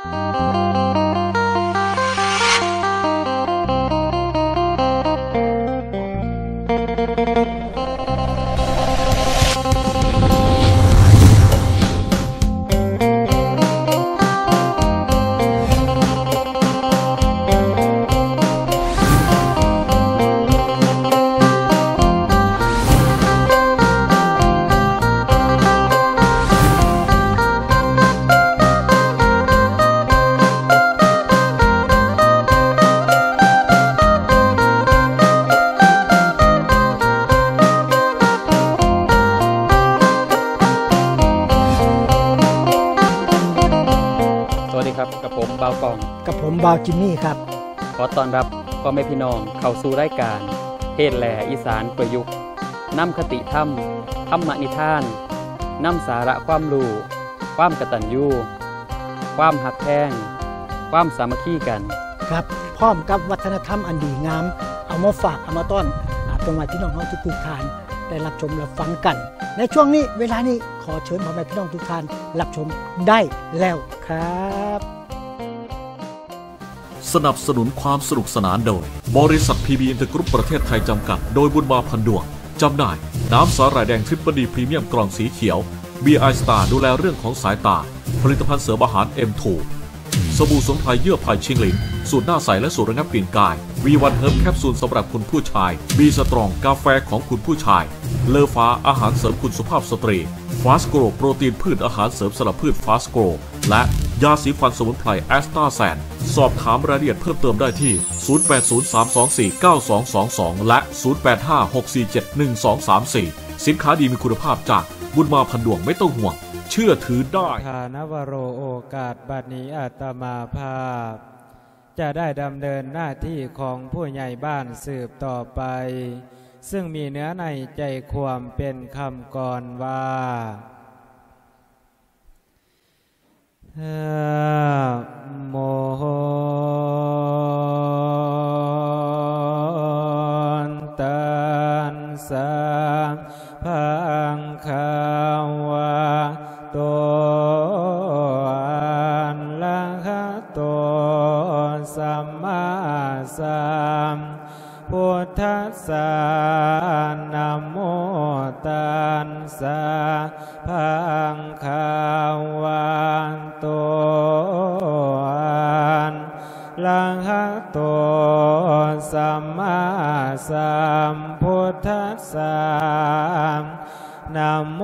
สวัสดีครับ กับผมบ่าวกอง กับผมบ่าวจิมมี่ครับ ขอต้อนรับพ่อแม่พี่น้องเข้าสู่รายการ เทศน์แหล่อีสานประยุกต์ นำคติธรรม ธรรมนิทาน นำสาระความรู้ ความกตัญญู ความฮักแพง ความสามัคคีกัน ครับ พร้อมกับวัฒนธรรมอันดีงาม เอามาฝาก เอามาต้อน อา พ่อแม่พี่น้องเฮาทุกๆท่าน ได้รับชมรับฟังกัน ในช่วงนี้ เวลานี้ ขอเชิญพ่อแม่พี่น้องทุกท่านรับชมได้แล้วครับ สนับสนุนความสนุกสนานโดย บริษัท พี บี อินเตอร์กรุ๊ป ประเทศไทย จำกัด โดยบุญมา พันดวง จำหน่าย น้ำสาหร่ายแดง ทริปเปิลดี พรีเมียม กล่องสีเขียว บี ไอ สตาร์ ดูแลเรื่องของสายตา ผลิตภัณฑ์เสริมอาหาร เอ็ม ทู สบู่สมุนไพรเยื่อไผ่ชิงหลิน สูตรหน้าใสและสูตรระงับกลิ่นกาย วี วัน เฮิร์บ แคปซูลสำหรับคุณผู้ชาย บี สตรอง กาแฟของคุณผู้ชาย เลอฟ้า อาหารเสริมคุณสุภาพสตรี ฟาสโกร โปรตีนพืช อาหารเสริมสำหรับพืช ฟาสโกร และยาสีฟันสมุนไพร แอสตาแซน สอบถามรายละเอียดเพิ่มเติมได้ที่ ศูนย์ แปด ศูนย์ สาม สอง สี่ เก้า สอง สอง สอง และ ศูนย์ แปด ห้า หก สี่ เจ็ด หนึ่ง สอง สาม สี่ สินค้าดีมีคุณภาพจากบุญมา พันดวง ไม่ต้องห่วง เชื่อถือได้ ทานวโร โอกาสบัดนี้อาตมาภาพ จะได้ดำเนินหน้าที่ของผู้ใหญ่บ้านสืบต่อไป ซึ่งมีเนื้อในใจความเป็นคำกลอนว่า นะโม ตัสสะ ภะคะวะโต อะระหะโต สัมมาสัมพุทธัสสะ นะโม ตัสสะ ภะคะวะโต อะระหะโต สัมมาสัมพุทธัสสะ นะโม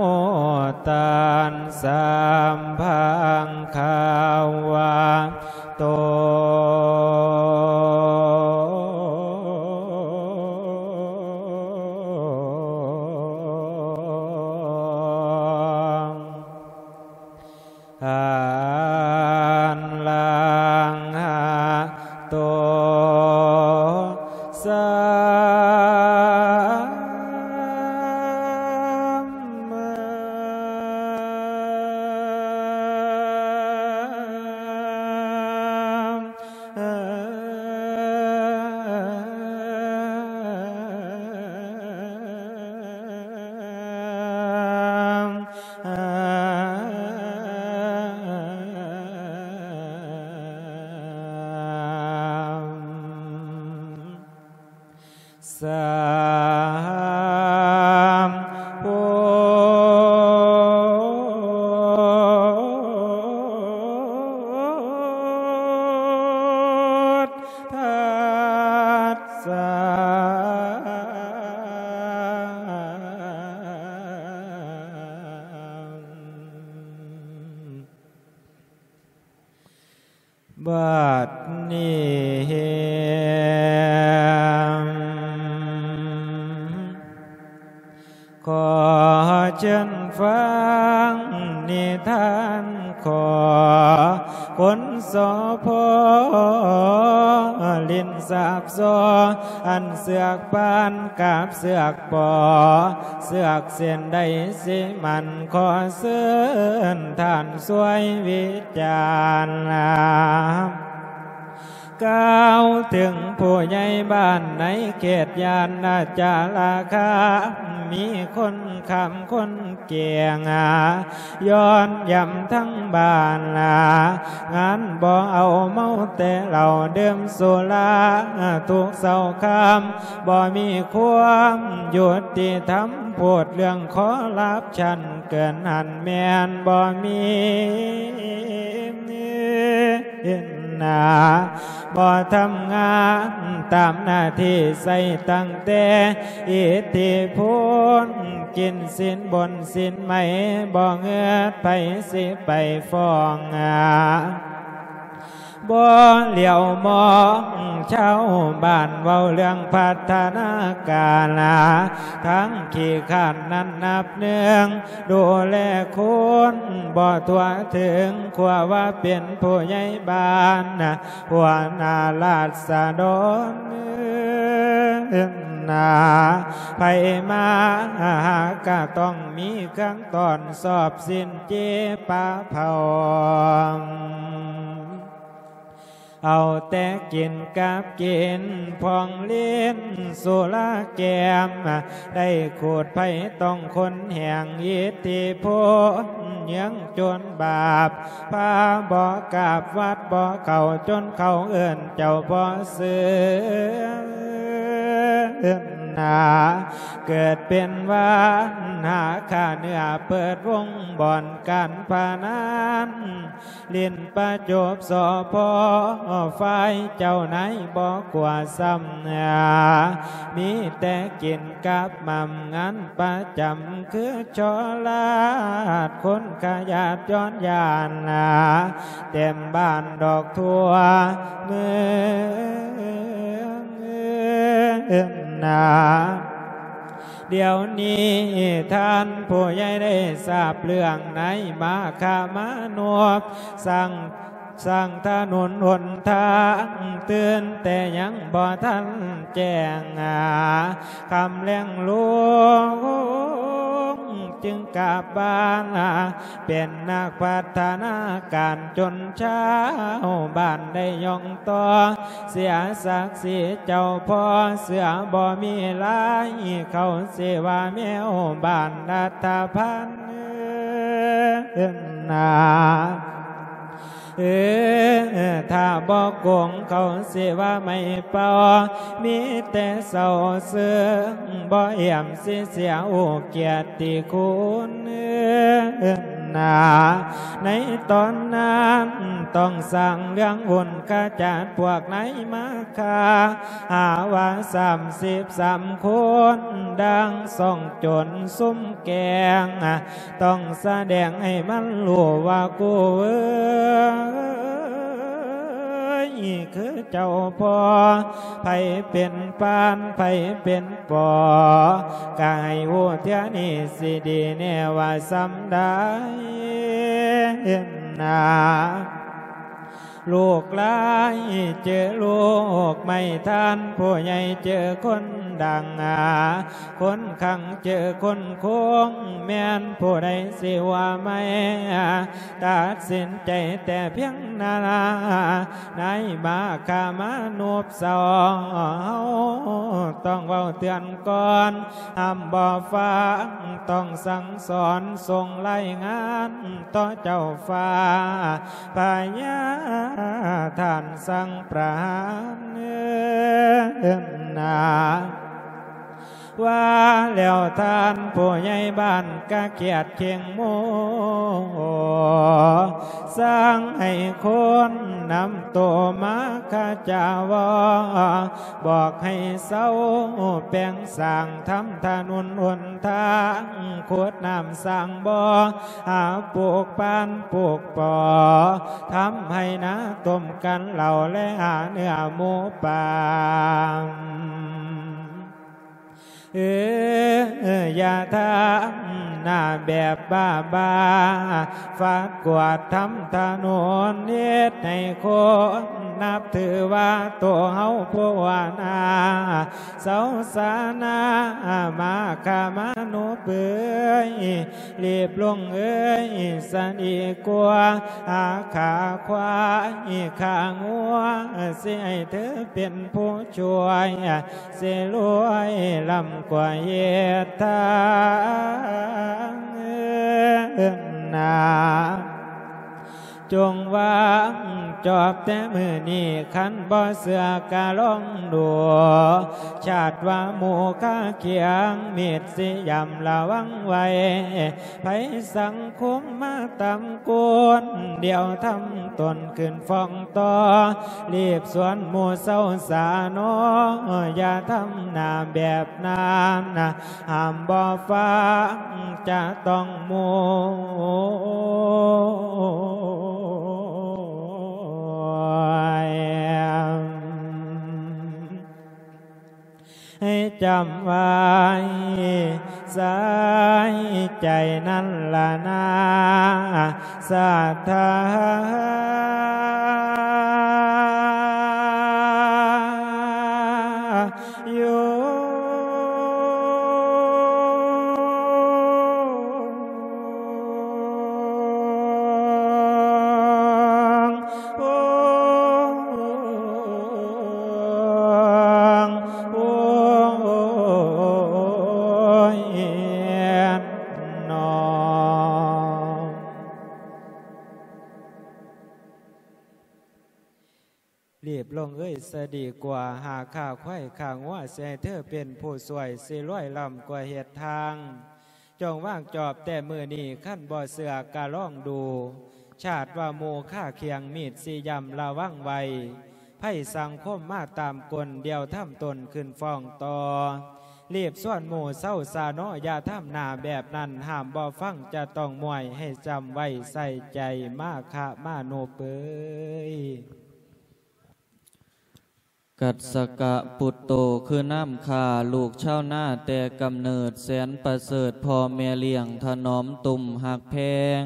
ตัสสะ ภะคะวะโต อะระหะโต สัมมา สัมพุทธัสสะ บัดนี้ ขอเชิญฟังนิทาน ขอคนสอพอ เล่นสาบซอ อันเสือกปานกับเสือกปอ เสือกเส้นใดสิมัน ขอเชิญท่านช่วยวิจารณา ກ່າວເຖິງຜູ້ໃຫຍ່ບ້ານໃນເຂດຍານນະຈາລາຄາ ມີຄົນຄ້ຳຄົນແກ່ງ ຍ້ອນຢ້ຳທັງບ້ານ ງານບໍ່ເອົາເມົາແຕ່ເຫຼົ້າ ດື່ມສຸລາທຸກເຊົ້າຄ່ຳ ບໍ່ມີຄວາມຍຸຕິທຳ ໂພດເລື່ອງຄໍຣັບຊັນ ເກີນຫັ້ນແມ່ນບໍ່ມີນາ ບໍ່ທຳງານຕາມໜ້າທີ່ ໃຊ້ຕັ້ງແຕ່ອິດທິພົນ ກິນສິນບົນສິນໃໝ ບໍ່ເງືອດໃຜຊິໄປຟ້ອງ ບໍ່ຫຼຽວມອງຊາວບ້ານ ເວົ້າເລື່ອງພັດທະນາການ ທັງຂີ້ຄ້ານນັ້ນນັບໜຶ່ງ ດູແລຄົນບໍ່ທົ່ວເຖິງ ຄວາວ່າເປັນຜູ້ໃຫຍ່ບ້ານ ຫົວໜ້າລາຊະດອນ ນາ ໃຜມາຫາກະຕ້ອງມີເຄື່ອງຕ້ອນ ຊອບສິນເຈປາເຜົາ ເອົາແຕ່ກິນກັບກິນ ພອງຫຼິ້ນສຸລາແກ້ມ ໄດ້ຂູດໄພຕ້ອງຄົນແຫ່ງອິດທິພົນ ເຍືອງຈົນບາບ ພາບໍ່ກາບວັດບໍ່ເຂົ້າ ຈົນເຂົາເອີ້ນເຈົ້າພໍ່ເຊື່ອນາ ເກີດເປັນວານຫາຂ້າເນື້ອ ເປີດວົງບ່ອນການພະນັນ ຫຼິ້ນປະຈົບ ສພ ຝ່າຍເຈົ້ານາຍບໍ່ກົວຊ້ຳເໜືອ ມີແຕ່ກິນກັບໝ່ຳ ງານປະຈຳຄືສໍລາດ ຄົນຂະຫຍາດຍ້ອນຢ້ານນາ ເຕັມບ້ານດອກທົ່ວເມືອງນາ. ດຽວນີ້ທ່ານຜູ້ໃຫຍ່ໄດ້ຊາບເລື່ອງ ໃນມາຄາມານຸບ ສ້າງ ສ້າງຖະໜົນຫົນທາງ ຕື່ນແຕ່ຍັງບໍ່ທັນແຈ້ງ ຫາຄ່ຳແລງລົງ ຈຶ່ງກັບບ້ານ ເປັນນັກພັດທະນາການ ຈົນຊາວບ້ານໄດ້ຍ້ອງຕໍ່ ເສຍສັກສີເຈົ້າພໍ່ ເສືອບໍ່ມີລາຍ ເຂົາຊິວ່າແມວບ້ານລັດຖະພັນນາ ເອີ ຖ້າບໍ່ໂກງເຂົາຊິວ່າໄມ້ເປົ່າ ມີແຕ່ເສົ້າເຊິ່ງ ບໍ່ອຽມຊິເສຍໂອກຽດຕິຄຸນນາ ໃນຕອນນັ້ນຕ້ອງສ້າງເລື່ອງບຸນຂະຈັດພວກນາຍມາຄາ ຫາວ່າສາມສິບສາມຄົນ ດັ່ງຊ່ອງໂຈນຊຸມແກງ ຕ້ອງສະແດງໃຫ້ມັນຮູ້ວ່າກູເອີຍ ຄືເຈົ້າພໍ່ ໃຜເປັນປານ ໃຜເປັນປໍ ກະໃຫ້ຮູ້ເທື່ອນີ້ຊິດີແນ່ວ່າສ່ຳໃດນາ. ລູກຫຼາຍເຈີລູກໃໝ່ ທ່ານຜູ້ໃຫຍ່ເຈີຄົນດັງ ຄົນຄັງເຈີຄົນຄົງ ແມ່ນຜູ້ໃດຊິວ່າໃໝ່ ຕັດສິນໃຈແຕ່ພຽງນັ້ນ ນາຍມາຄາມານຸບເຊົາ ເຮົາຕ້ອງເວົ້າເຕືອນກ່ອນ ຫ້າມບໍ່ຟັງ ຕ້ອງສັ່ງສອນ ສົ່ງລາຍງານຕໍ່ເຈົ້າຟ້າ ພະຍາທ່ານສັ່ງປະຫານນາ. ວ່າແລ້ວທ່ານຜູ້ໃຫຍ່ບ້ານກະຄຽດເຄັ່ງໂມ ສັ່ງໃຫ້ຄົນນຳໂຕມາຄະຈາວໍ ບອກໃຫ້ເຊົາແປງສ້າງ ທຳຖະໜົນຫົນທາງ ຂຸດນ້ຳສ້າງບໍ່ ຫາປູກປານປູກປໍ ທຳໄຮ່ນາຕົ້ມກັນເຫຼົ້າ ແລະຫາເນື້ອໝູປ່າ. ເອີ ຢ່າທຳໜ້າແບບບ້າໆ ຟາດກວາດທຳຖະໜົນ ເຮັດໃຫ້ຄົນນັບຖືວ່າໂຕເຮົາຜູ້ວ່າໜ້າ ເຊົາສານາ ມາຄາມານຸບ ເປີຍ ລີບລົງເອີຍ ສະດີກວ່າ ຫາຂ້າຄວາຍຂ້າງົວ ຊິໃຫ້ເທີເປັນຜູ້ຊ່ວຍ ຊິລວຍລ້ຳກວ່າເຮັດທາງນາ. ຈົ່ງວາງຈອບແຕ່ມື້ນີ້ ຄັນບໍ່ເຊື່ອກະລອງດູ ຊາດວ່າໝູ່ຄາຄຽງ ມິດຊິຢ້ຳລະວັງໄວ້ ໄພສັງຄົມມາຕາມກົນ ດຽວທຳຕົນຂຶ້ນຟ້ອງຕໍ່ ລີບຊວນໝູ່ເຊົາສາໜໍ ຢ່າທຳໜ້າແບບນັ້ນ ຫ້າມບໍ່ຟັງຈະຕ້ອງໂມຍ ໃຫ້ຈຳໄວ້ໃສ່ໃຈນັ້ນລະນາ ສັດທາໂຍ. ລີບລົງເອີຍ ສະດີກວ່າ ຫາຂ້າຄວາຍຂ້າງົວ ຊິໃຫ້ເທີເປັນຜູ້ຊ່ວຍ ຊິລວຍລ້ຳກວ່າເຮັດທາງ. ຈົ່ງວາງຈອບແຕ່ມື້ນີ້ ຄັນບໍ່ເຊື່ອກະລອງດູ ຊາດວ່າໝູ່ຄາຄຽງ ມິດຊິຢ້ຳລະວັງໄວ້ ໄພສັງຄົມມາຕາມກົນ ດຽວທຳຕົນຂຶ້ນຟ້ອງຕໍ່ ລີບຊວນໝູ່ເຊົາສາໜໍ ຢ່າທຳໜ້າແບບນັ້ນ ຫ້າມບໍ່ຟັງຈະຕ້ອງມວຍ ໃຫ້ຈຳໄວ້ໃສ່ໃຈ ມາຄະມານຸເປີຍ. ກັດສະກະປຸດໂຕ ຄືນ້ຳຂ້າ ລູກຊາວນາແຕ່ກຳເນີດ ແສນປະເສີດ ພໍ່ແມ່ລ້ຽງຖະໜອມຕຸ້ມຮັກແພງ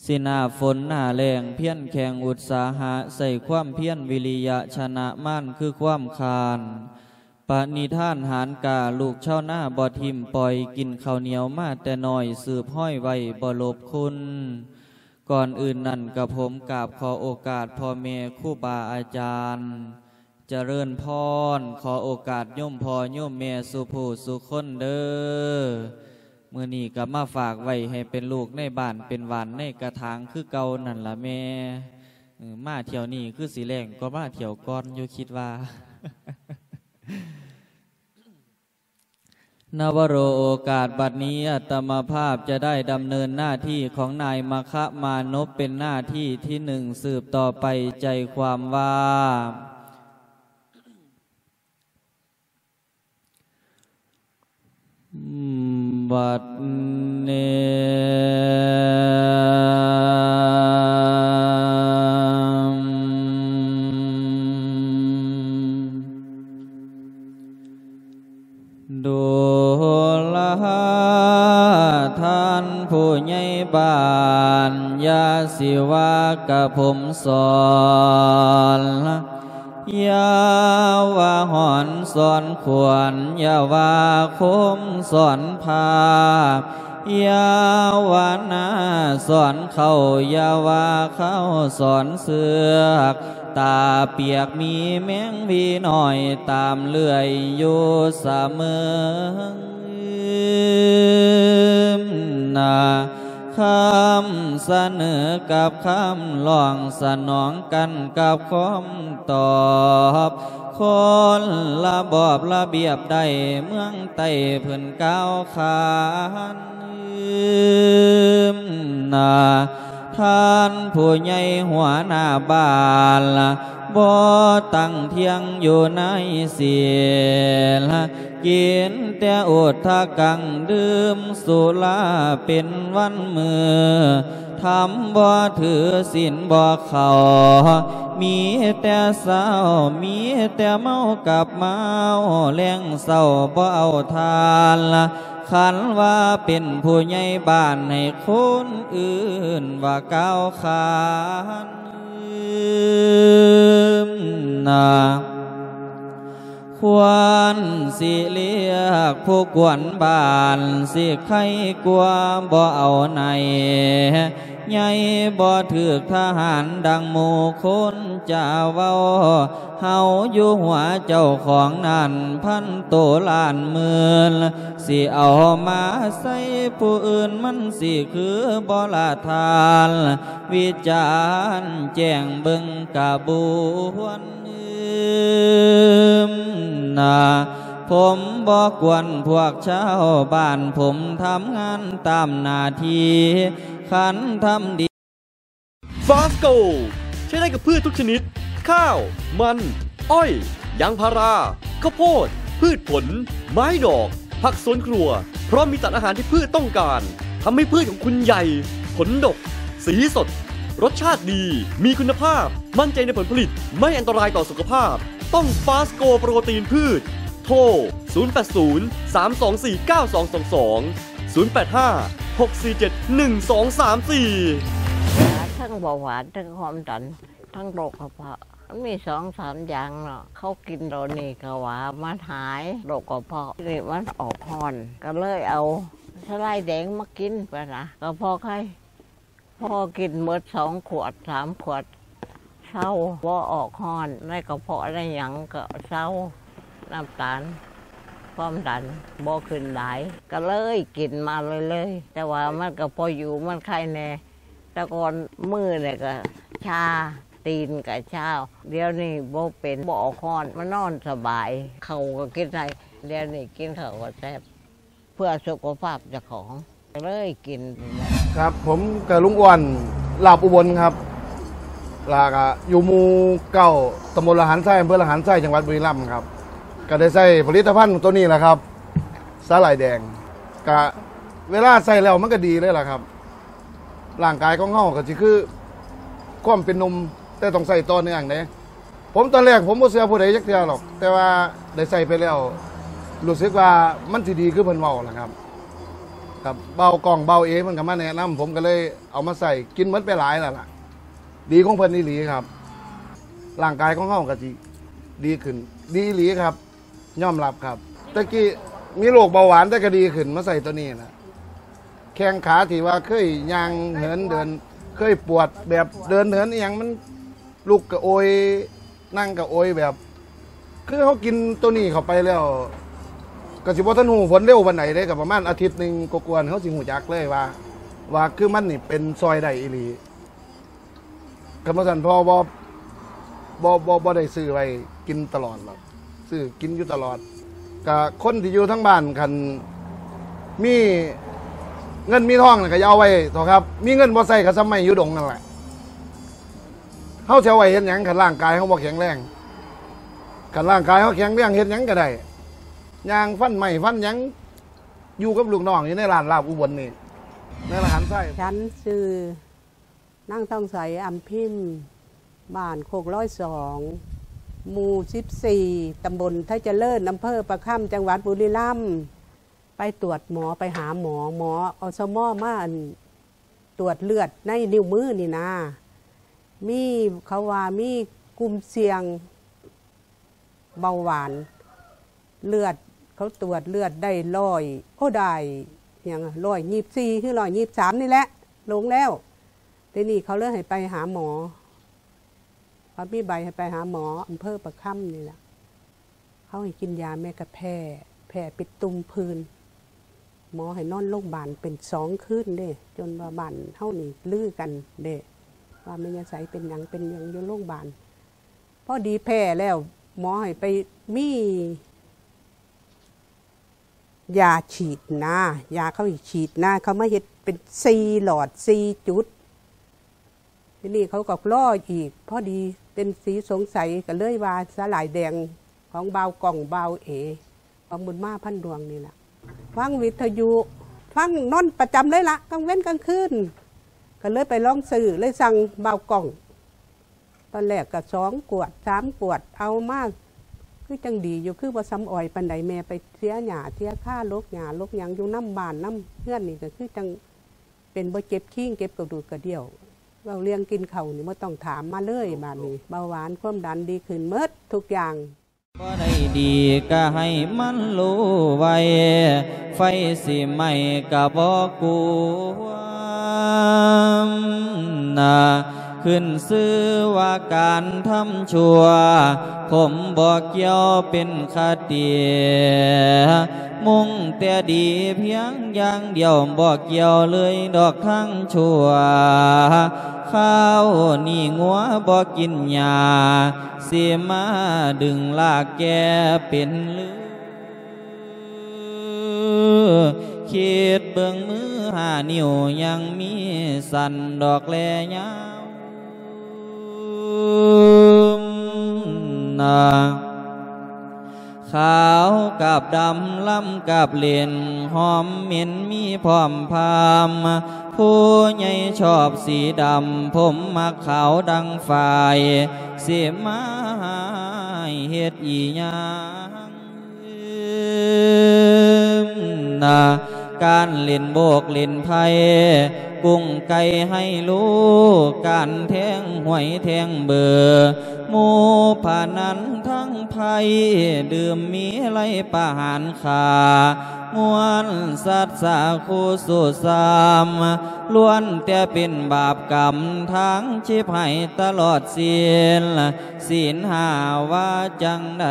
ສີໜ້າຝົນໜ້າແລ້ງ ພຽນແຂງອຸດສາຫະ ໃສ່ຄວາມພຽນວິລິຍະ ຊະນະມານຄືຄວາມຄ້ານ ປະນິທານຫານກ້າ ລູກຊາວນາບໍ່ຖິ້ມປ່ອຍ ກິນເຂົ້າໜຽວມາແຕ່ນ້ອຍ ສືບຮ້ອຍໄວ້ບໍ່ຫຼົບຄຸນ. ກ່ອນອື່ນນັ້ນ ກະຜົມກາບຂໍໂອກາດພໍ່ແມ່ຄູບາອາຈານ ຈະເລີນພອນ ຂໍໂອກາດໂຍມພໍ່ໂຍມແມ່ສູ່ຜູ້ສູ່ຄົນເດີ. ມື້ນີ້ກະມາຝາກໄວ້ໃຫ້ເປັນລູກໃນບ້ານ ເປັນຫວ່ານໃນກະຖາງຄືເກົ່ານັ້ນລະແມ່. ເອີ ມາຖ້ຽວນີ້ຄືຊິແລ້ງກວ່າມາຖ້ຽວກ່ອນຢູ່ ຄິດວ່າ. ນະວະໂລ ໂອກາດບັດນີ້ ອາດຕະມະພາບຈະໄດ້ດຳເນີນໜ້າທີ່ຂອງນາຍມະຄະມານົບ ເປັນໜ້າທີ່ທີໜຶ່ງ ສືບຕໍ່ໄປ. ໃຈຄວາມວ່າ ບັດນີ້ ດູລາທ່ານຜູ້ໃຫຍ່ບ້ານ ຢ່າຊິວ່າກະຜົມສອນ ຢ່າວ່າຫອນສອນຂວັນ ຢ່າວ່າຄົມສອນຜ້າ ຢ່າວ່າໜ້າສອນເຂົ້າ ຢ່າວ່າເຂົ້າສອນເຊືອກ ຕາປຽກມີແມງວີນ້ອຍຕາມເລື່ອຍຢູ່ສະເໝີ. ນາ ຄຳສະເໜີກັບຄຳຮ້ອງ ສະໜອງກັນກັບຄວາມຕອບ ຄົນລະບອບລະບຽບໃດ ເມືອງໃຕ້ເພິ່ນກ່າວຂານ. ນາ ທ່ານຜູ້ໃຫຍ່ຫົວໜ້າບ້ານ ບໍ່ຕັ້ງທ່ຽງຢູ່ໃນສິນ ກິນແຕ່ອຸດທະກັງ ດື່ມສຸລາເປັນວັນມື້ ທຳບໍ່ຖືສິນບໍ່ເຂົ້າ ມີແຕ່ເຊົ້າ ມີແຕ່ເມົາກັບເມົາ ແລງເຊົ້າບໍ່ເອົາທານ ຄັນວ່າເປັນຜູ້ໃຫຍ່ບ້ານ ໃຫ້ຄົນອື່ນວ່າກ່າວຂານ. ນາ ຄວນຊິລຽກຜູ້ກວນບ້ານ ຊິໄຄກວ່າບໍ່ເອົາໃນ ໃຫຍ່ບໍ່ຖືກທະຫານ ດັ່ງໝູ່ຄົນຈະເວົ້າ. ເຮົາຢູ່ຫົວເຈົ້າຂອງນັ້ນ ພັນໂຕລ້ານໝື່ນ ຊິເອົາມາໃສ່ຜູ້ອື່ນ ມັນຊິຄືບໍ່ລະທ່ານ ວິຈານແຈ້ງເບິ່ງກະບວນອື່ມນາ. ຜົມບໍ່ກວນພວກຊາວບ້ານ ຜົມທຳງານຕາມໜ້າທີ່ ຄັນທຳດີ. ຟາສໂก ใช้ได้กับพืชทุกชนิด ข้าว มัน อ้อย ยางพารา ข้าวโพด พืชผล ไม้ดอก ผักสวนครัว พร้อมมีสารอาหารที่พืชต้องการ ทำให้พืชของคุณใหญ่ ผลดก สีสด รสชาติดี มีคุณภาพ มั่นใจในผลผลิต ไม่อันตรายต่อสุขภาพ ต้องฟาสโกโปรตีนพืช โทร ศูนย์ แปด ศูนย์ สาม สอง สี่ เก้า สอง สอง สอง ศูนย์ แปด ห้า หก สี่ เจ็ด หนึ่ง สอง สาม สี่ ທັງເບົາຫວານ ທັງຄວາມດັນ ທັງໂລກກະເພາະ ມັນມີສອງສາມຢ່າງເນາະ. ເຂົາກິນໂຕນີ້ກະວ່າມັນຫາຍໂລກກະເພາະ ນີ້ມັນອອກຮ້ອນ ກະເລີຍເອົາສະໄລແດງມາກິນ ປະນະ ກະເພາະໄຄ ພໍກິນໝົດສອງຂວດສາມຂວດ ເຊົາ ບໍ່ອອກຮ້ອນ ໃນກະເພາະໃນຫຍັງກະເຊົາ ນ້ຳຕານ ຄວາມດັນບໍ່ຂຶ້ນຫຼາຍ ກະເລີຍກິນມາເລື້ອຍໆ ແຕ່ວ່າມັນກະພໍຢູ່ ມັນໄຄແດ່. ແຕ່ກ່ອນມືນີ້ກະຊາ ຕີນກະຊາ ດຽວນີ້ບໍ່ເປັນ ບໍ່ອອກຮ້ອນ ມານອນສະບາຍ ເຂົ້າກະກິນໄດ້ ດຽວນີ້ກິນເຂົ້າກະແຊບ ເພື່ອສຸຂະພາບເຈົ້າຂອງ ກະເລີຍກິນ. ຄັບ ຜົມກະລຸງອ້ວນ ລາບອຸບົນຄັບ ລະກະຢູ່ໝູ່ເກົ້າ ຕຳບົນລະຫານໄຊ ອຳເພີລະຫານໄຊ ຈັງຫວັດບຸລີລຳຄັບ. ກະໄດ້ໃຊ້ຜະລິດຕະພັນໂຕນີ້ລະຄັບ ສາຫຼ່າຍແດງ ກະເວລາໃຊ້ແລ້ວມັນກະດີເລີຍລະຄັບ. ຮ່າງກາຍຂອງເຮົາກະຊິຄືຄວາມເປັນໜຸ່ມ ແຕ່ຕ້ອງໃຊ້ຕໍ່ເນື່ອງເດ້. ຜົມຕອນແລກຜົມບໍ່ເຊື່ອຜູ້ໃດຈັກເທື່ອດອກ ແຕ່ວ່າໄດ້ໃຊ້ໄປແລ້ວ ຮູ້ສຶກວ່າມັນຊິດີຄືເພິ່ນເວົ້າລະຄັບ. ຄັບ ບ່າວກ້ອງ ບ່າວເອ ເພິ່ນກະມາແນະນຳ ຜົມກະເລີຍເອົາມາໃຊ້ ກິນໝົດໄປຫຼາຍແລ້ວລະ ດີຂອງເພິ່ນອີ່ຫຼີຄັບ. ຮ່າງກາຍຂອງເຮົາກະຊິດີຂຶ້ນ ດີອີ່ຫຼີຄັບ. ຍອມຮັບຄັບ ແຕ່ກີ້ມີໂລກເບົາຫວານ ແຕ່ກະດີຂຶ້ນ ມາໃຊ້ໂຕນີ້ລະ ແຂ້ງຂາທີ່ວ່າເຄີຍຍ່າງເຫີນເດີນ ເຄີຍປວດແບບເດີນເຫີນອີ່ຫຍັງ ມັນລຸກກະໂອຍ ນັ່ງກະໂອຍ ແບບຄືເຮົາກິນໂຕນີ້ເຂົ້າໄປແລ້ວ ກະຊິບໍ່ທັນຮູ້ຜົນເລັວປານໃດເດ້ ກະປະມານອາທິດໜຶ່ງກວ່າໆ ເຮົາຊິຮູ້ຈັກເລີຍວ່າ ວ່າຄືມັນນີ້ເປັນຊ່ອຍໄດ້ອີ່ຫຼີ. ຄັນບໍ່ຊັ້ນພໍ່ບໍ່ ບໍ່ ບໍ່ ບໍ່ໄດ້ຊື້ໄວ້ກິນຕະຫຼອດດອກ ຊື້ກິນຢູ່ຕະຫຼອດ. ກະຄົນທີ່ຢູ່ທາງບ້ານ ຄັນມີເງິນມີທອງນະກະຢ່າເອົາໄວ້ເຖາະຄັບ ມີເງິນບໍ່ໃຊ້ກະສ່ຳໄມ້ຢູ່ດົງນັ້ນແຫຼະ. ເຮົາຊິເອົາໄວ້ເຮັດຫຍັງ ຄັນຮ່າງກາຍເຮົາບໍ່ແຂງແຮງ? ຄັນຮ່າງກາຍເຮົາແຂງແຮງ ເຮັດຫຍັງກະໄດ້ ຍ່າງຟັນໄມ້ຟັນຫຍັງ ຢູ່ກັບລູກນ້ອງຢູ່ໃນຮ້ານລາບອຸບົນນີ້ ໃນລະຫານໄຊ. ນາງທອງໃສ ອຳພິມ ບ້ານໂຄກລອຍສອງ ໝູ່ສິບສີ່ ຕຳບົນໄທຈະເລີນ ອຳເພີປາຄຳ ຈັງຫວັດບຸລີລຳ. ໄປຕວດໝໍ ໄປຫາໝໍ ໝໍ ອສມ ມາ ອັ່ນ ຕວດເລືອດໃນນິ້ວມືນີ້ນາ ມີ ເຂົາວ່າມີກຸ່ມສ່ຽງ ເບົາຫວານ ເລືອດ ເຂົາຕວດເລືອດໄດ້ຮ້ອຍ ໂອ້ ໄດ້ຫຍັງ ຮ້ອຍຊາວສີ່ ຫຼື ຮ້ອຍຊາວສາມນີ້ແຫຼະ ລົງແລ້ວ. ເດນີ້ເຂົາເລີຍໃຫ້ໄປຫາໝໍ ເຂົາມີໃບໃຫ້ໄປຫາໝໍ ອຳເພີປາຄຳນີ້ລະ ເຂົາໃຫ້ກິນຢາແມ່ກະແພ້ ແພ້ເປັນຕຸ່ມຜື່ນ ໝໍໃຫ້ນອນໂລງບານເປັນສອງຄືນເດ້ ຈົນວ່າບ້ານເຮົານີ້ລືກັນເດ້ ວ່າແມ່ຍາໃສເປັນຫຍັງເປັນຫຍັງຢູ່ໂລງບານ. ພໍດີແພ້ແລ້ວ ໝໍໃຫ້ໄປມີຢາສີດນາ ຢາເຂົາໃຫ້ສີດນາ ເຂົາມາເຮັດເປັນສີ່ຫຼອດສີ່ຈຸດ. ທີນີ້ເຂົາກໍລໍອີກ ພໍດີເປັນສີສົງໄສ ກໍເລີຍວ່າສາຫຼ່າຍແດງຂອງບ່າວກ້ອງ ບ່າວເອ ຂອງບຸນມາ ພັນດວງນີ້ລະ. ຟັງວິທະຍຸ ຟັງນອນປະຈຳເລີຍລະ ກາງເວັນກາງຄືນ ກໍເລີຍໄປລອງຊື້ ເລີຍສັ່ງບ່າວກ້ອງ ຕອນແລກກໍສອງຂວດສາມຂວດ ເອົາມາຄືຈັ່ງດີຢູ່ ຄືບໍ່ສ່ຳອອຍປານໃດ. ແມ່ໄປເສຍຫຍ້າເສຍຄາ ຫຼົກຫຍ້າຫຼົກຫຍັງຢູ່ນຳບ້ານນຳເຮືອນນີ້ ກໍຄືຈັ່ງເປັນບໍ່ເຈັບຄີງ ເຈັບກະດູກກະດຽວ. ເວົ້າເລື່ອງກິນເຂົ້ານີ້ບໍ່ຕ້ອງຖາມມາເລີຍ ບາດນີ້ເບົາຫວານຄວາມດັນດີຂຶ້ນໝົດທຸກຢ່າງ. ບໍ່ໄດ້ດີກະໃຫ້ມັນຮູ້ໄວ້ ໄຟຊິໄໝ້ກະບໍ່ກວມນະ ຂຶ້ນຊື່ວ່າການທຳຊົ່ວ ຜົມບໍ່ກ່ຽວເປັນຄະຕິ ມຸ່ງແຕ່ດີພຽງຢ່າງດຽວ ບໍ່ກ່ຽວເລີຍດອກທາງຊົ່ວ ຄາວນີ້ງົວບໍ່ກິນຫຍ້າ ຊິມາດຶງລາກແກ່ເປັນລື ຄິດເບິ່ງມືຫ້ານິ້ວຍັງມີສັ້ນດອກແລຍາວນາ ຂາວກັບດຳລຳກັບເຫຼັ້ນ ຫອມເໝັນມີພ້ອມພາມ ຜູ້ໃຫຍ່ຊອບສີດຳ ຜົມມັກຂາວດັ່ງຝ້າຍ ຊິມາໃຫ້ເຮັດອີ່ຫຍັງ ນາ ການຫຼິ້ນໂບກຫຼິ້ນໄພ້ ກຸ້ງໄກ່ໄຮໂລ ການແທງຫວຍແທງເບີ ໝູ່ພະນັນທັງໄພ ດື່ມມີໄລປະຫານຂ້າ ມ່ວນສັດສາຄູ່ສູ້ຊ້ຳ ລ້ວນແຕ່ເປັນບາບກຳ ທາງຊິບໃຫ້ຕະຫຼອດສິ້ນ ສິນຫ້າວ່າຈັ່ງໃດ?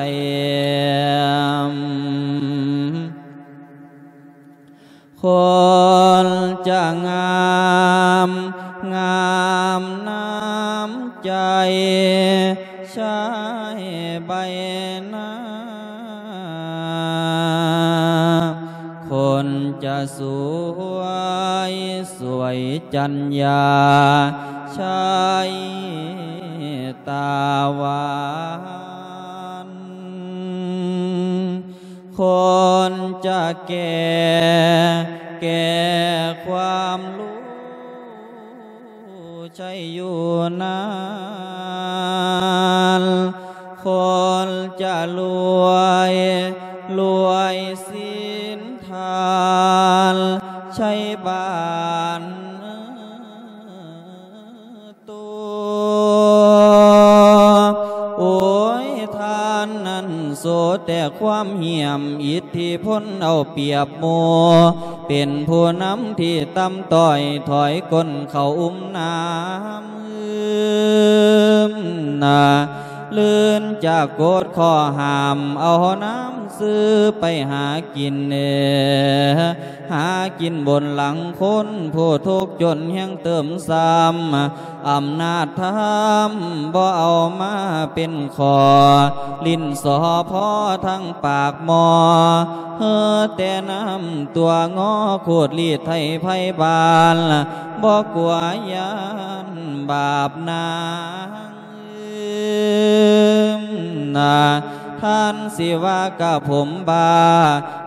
ຄົນຈະງາມ ງາມນ້ຳໃຈ ໃຊ້ໃບໜ້າ ຄົນຈະສວຍ ສວຍຈັນຍາ ໃຊ້ຕາຫວານ ຄົນຈະແກ່ ແກ່ຄວາມຮູ້ ໃຊ້ຢູ່ນານ ຄົນຈະລວຍ ລວຍສິນທານ ໃຊ້ບ້ານໂຕ ໂອ້ຍ ທ່ານນັ້ນໂສແຕ່ຄວາມຫ້ຽມ ອິດທິພົນເອົາປຽບໝູ່ ເປັນຜູ້ນຳທີ່ຕ່ຳຕ້ອຍ ຖອຍກົ້ນເຂົ້າອຸມນ້ຳ ນາ ລື່ນຈາກກົດຂໍ້ຫ້າມ ເອົານ້ຳຊື້ໄປຫາກິນເອ ຫາກິນບົນຫຼັງຄົນຜູ້ທຸກຈົນແຮງເຕີມຊ້ຳ ອຳນາດທຳບໍ່ເອົາມາເປັນຂໍ້ ຫຼິ້ນສໍພໍທັງປາກໝໍ້ ເຮີແຕ່ນ້ຳຕົວງໍ ຂູດລີດໄຖໄພບ້ານ ບໍ່ກົວຢ້ານບາບນາງ ນາ ທ່ານຊິວ່າກະຜົມບ້າ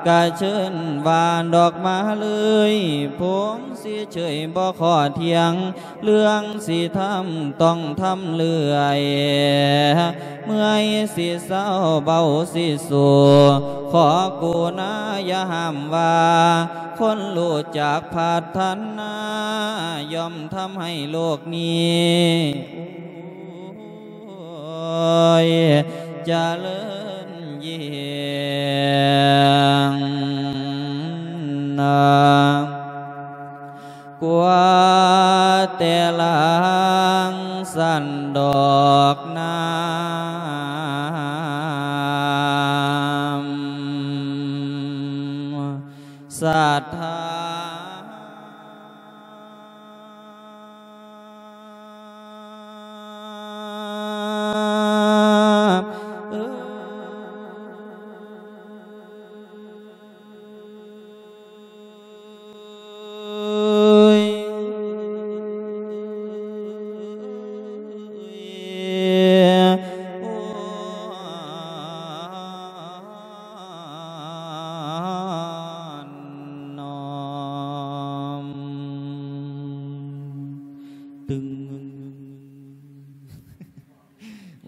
ກະເຊີນວ່າດອກມາເລີຍ ຜົມຊິເຊີຍບໍ່ຂໍຖຽງ ເລື່ອງຊິທຳຕ້ອງທຳເລື້ອຍ ເມື່ອຍຊິເຊົາເບົາຊິສູ້ ຂໍກະລຸນາຢ່າຫ້າມວ່າ ຄົນຮູ້ຈັກພັດທະນາ ຍ່ອມທຳໃຫ້ໂລກນີ້ ໂອ້ຍ ຈະເລີນຍິ່ງນາ ກວ່າແຕ່ຫຼັງສັນດອກນ້ຳ ສັດທາ